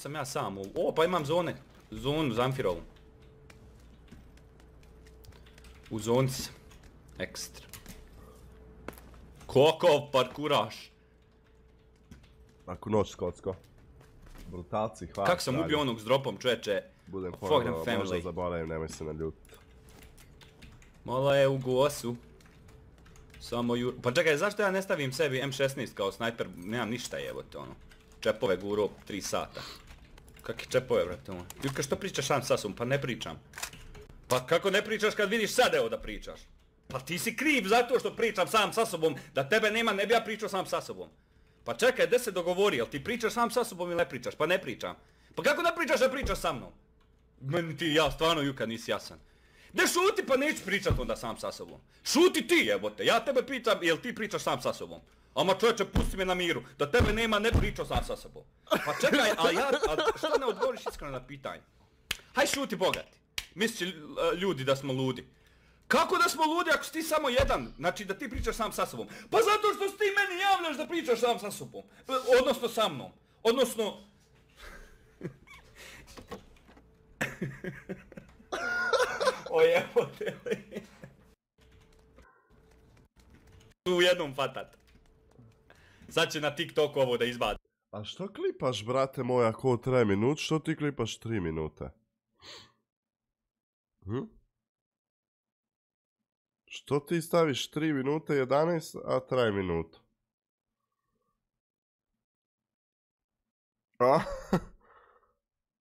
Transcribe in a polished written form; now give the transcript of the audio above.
Sam ja sam u... O, pa imam zone. Zonu Zamfirovu. U zonci sam. Ekstra. Kakav parkuraš. Ako noć skocko. Brutalci, hvala. Kako sam ubio onog s dropom, čoveče. Budem Fuck them ponovno, možda family. zaboravim, nemoj se naljutiti. Malo je u gosu. Samo Pa čekaj, zašto ja ne stavim sebi M16 kao snajper? Nemam ništa jebote ono. Čepove guro 3 sata. Kakve čepove brate ono? Jutka što pričaš sam sa sobom? Pa ne pričam. Pa kako ne pričaš kad vidiš sad evo da pričaš? Pa ti si kriv zato što pričam sam sa sobom. Da tebe nema ne bi ja pričao sam sa sobom. Pa čekaj, gdje se dogovori? Jel ti pričaš sam sa sobom ili ne pričaš? Pa ne pričam. Pa kako ne pričaš da pričaš sa mnom? Meni ti ja stvarno Juka nisi jasan. Ne šuti pa neću pričat onda sam sa sobom. Šuti ti jebote, ja tebe pitam jel ti pričaš sam sa sobom. Ama čovječe pusti me na miru, da tebe nema ne pričao sam sa sobom. Pa čekaj, a što ne odgovoriš iskreno na pitanje? Haj šuti bogati, misliš ljudi da smo ludi. Kako da smo ludi ako si ti samo jedan, znači da ti pričaš sam sa sobom? Pa zato što si ti meni javljaš da pričaš sam sa sobom, odnosno sa mnom, odnosno... O jebote li. U jednom fatat. Sad će na TikToku ovo da izbaci. A što klipaš, brate moj, ako traje minut, što ti klipaš 3 minute? Što ti staviš 3 minute 11, a traje minutu? A?